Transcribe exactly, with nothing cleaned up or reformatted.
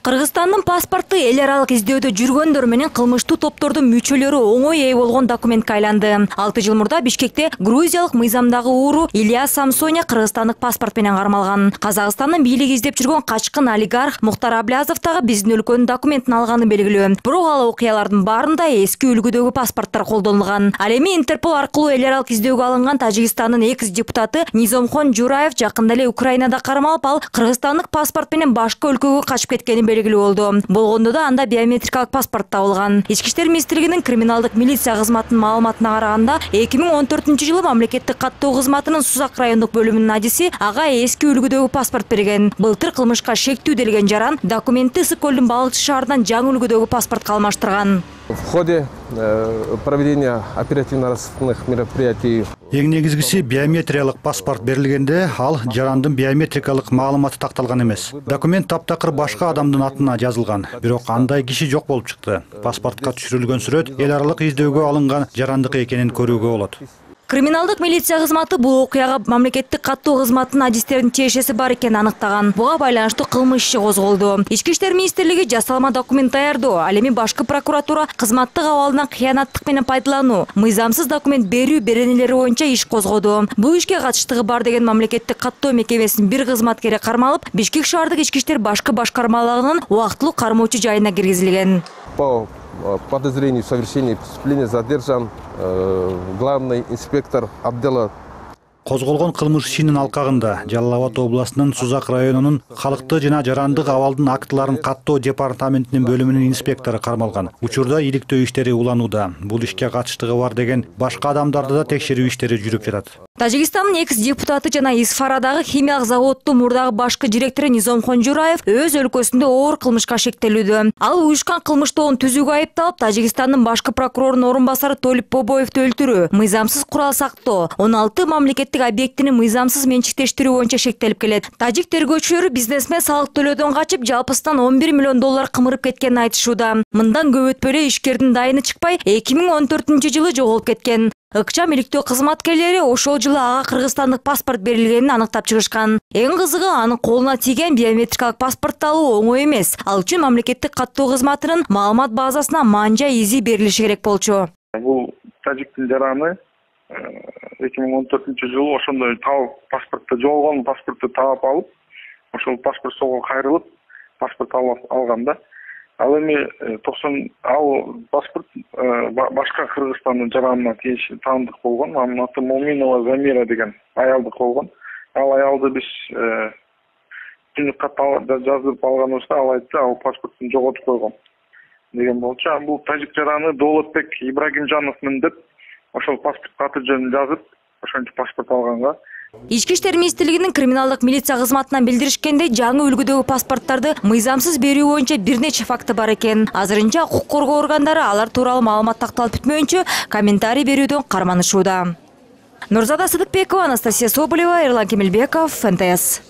Кыргызстандын паспорту эл аралык издөөдө жүргөндөр менен кылмыштуу топтордун мүчөлөрү оңой ээ болгон документке айланды. алты жыл мурда Бишкекте грузиялык мыйзамдагы ууру Илья Самсоня кыргызстандык паспорт менен кармалган. Казакстандын бийлиги издеп жүргөн качкын олигарх Мухтар Аблязов дагы биздин өлкөнүн документин алганы белгилүү. Бирок ал окуялардын баарында эски үлгүдөгү паспорттор колдонулган. Ал эми Интерпол аркылуу эл аралык издөөгө алынган Тажикстандын экс депутаты Низомхон Жураев жакында эле Украинада кармалып, ал кыргызстандык паспорт менен башка өлкөгө качып кеткени белгилүү болду. Болгондо да анда биометрикалык паспорт табылган. Ички иштер министрлигинин криминалдык милиция кызматынын маалыматына караганда, эки миң он төртүнчү жылы мамлекеттик каттоо кызматынын Сузак райондук бөлүмүнүн адиси ага эски үлгүдөгү паспорт берген. Былтыр кылмышка шектүү делген жаран документти Ысык көлдүн Балыкчы шаарынан жаңы үлгүдөгү паспортко алмаштырган. В ходе проведения оперативно-розыскных мероприятий эң негизгиси биометриялык паспорт берилгенде ал жарандын биометрикалык маалыматы такталган эмес. Документ таптакыр башка адамдын атына жазылган, бирок андай киши жок болуп чыкты. Паспортко түшүрүлгөн сүрөт эл аралык издөөгө алынган жарандык экенин көрүүгө болот. Криминалдык милиция кызматы бул окуяга мамлекеттик каттоо кызматынын адистеринин тиешеси бар экенин аныктаган. Буга байланыштуу кылмыш иши козголду. Ички иштер министрлиги жасалма документ даярдоо, ал эми башкы прокуратура кызматтык абалынан кыянаттык менен пайдалануу, мыйзамсыз документ берүү беренелери боюнча иш козгоду. Бул ишке катыштыгы бар деген мамлекеттик каттоо мекемесинин бир кызматкери кармалып, Бишкек шаардык ички иштер башкы башкармалыгынын убактылуу кармоочу жайына киргизилген. По подозрению в совершении преступления задержан э, главный инспектор отдела. Козголгон кылмыш ишинин алкагында Жалал Абад областынын Сузак районунун калкты жана жарандык абалдын актыларын каттоо департаментинин бөлүмүнүн инспектору кармалган. Учурда иликтөө иштери уланууда. Бул ишке катыштыгы бар деген башка адамдарды да текшерүү иштери жүрүп жатат. Тажикстандын экс депутаты жана Исфарадагы химиялык заводдун мурдагы башкы директору Низомхон Жураев өз өлкөсүндө оор кылмышка шектелүүдө. Ал уюшкан кылмыштоон түзүүгө айыпталып, Тажикстандын башкы прокурорунун орун басары Толип Бобоевду өлтүрүү, мыйзамсыз курал сактоо, он алты мамлекеттик объектини мыйзамсыз менчиктештирүү боюнча шектелип келет. Тажик тергөөчүлөрү бизнесмен салык төлөөдөн качып, жалпысынан он бир миллион доллар кымырып кеткенин айтышууда. Мындан көп өтпөй эле ишкердин дайыны чыкпай, эки миң он төртүнчү жылы жоголуп кеткен. Ыкчам иликтөө кызматкерлери ошол жылы ага кыргызстандык паспорт берилгенин аныктап чыгышкан. Эң кызыгы, анын колуна тийген биометрикалык паспортду алуу оңой эмес. Ал үчүн мамлекеттик каттоо кызматынын маалымат базасына манжа изи берилиши керек болчу. Бул тажиктин жараны эки миң он төртүнчү жылы ошондой табып, паспортто жоголгон паспортду таап алып, ошол паспорт сого кайрылып, паспорт алган да. Ал эми токсон ал паспорт башка Кыргызстандын жаранына тийиштүү таандык болгон. Анын аты Моминова Замира деген аялдык болгон. Ал аялды биз түнүк катта жазып алганыбызда ал айтты, ал паспорттун жоготуп койгон деген болчу. Бул тажик жараны Доолотбек Ибрагимжановмун деп ошол паспорт аты жөнүн жазып, ошончо паспорт алганга. Ички иштер министрлигинин криминалдык милиция кызматынан билдиришкендей, жаңы үлгүдөгү паспорттарды мыйзамсыз берүү боюнча бир нече факты бар экен. Азырынча укук коргоо органдары алар тууралуу маалымат такталып бүтмөйүнчө комментарий берүүдөн карманышууда. Нурзада Сыдыкбекова, Анастасия Соболева, Эрлан Кемелбеков, эн тэ эс.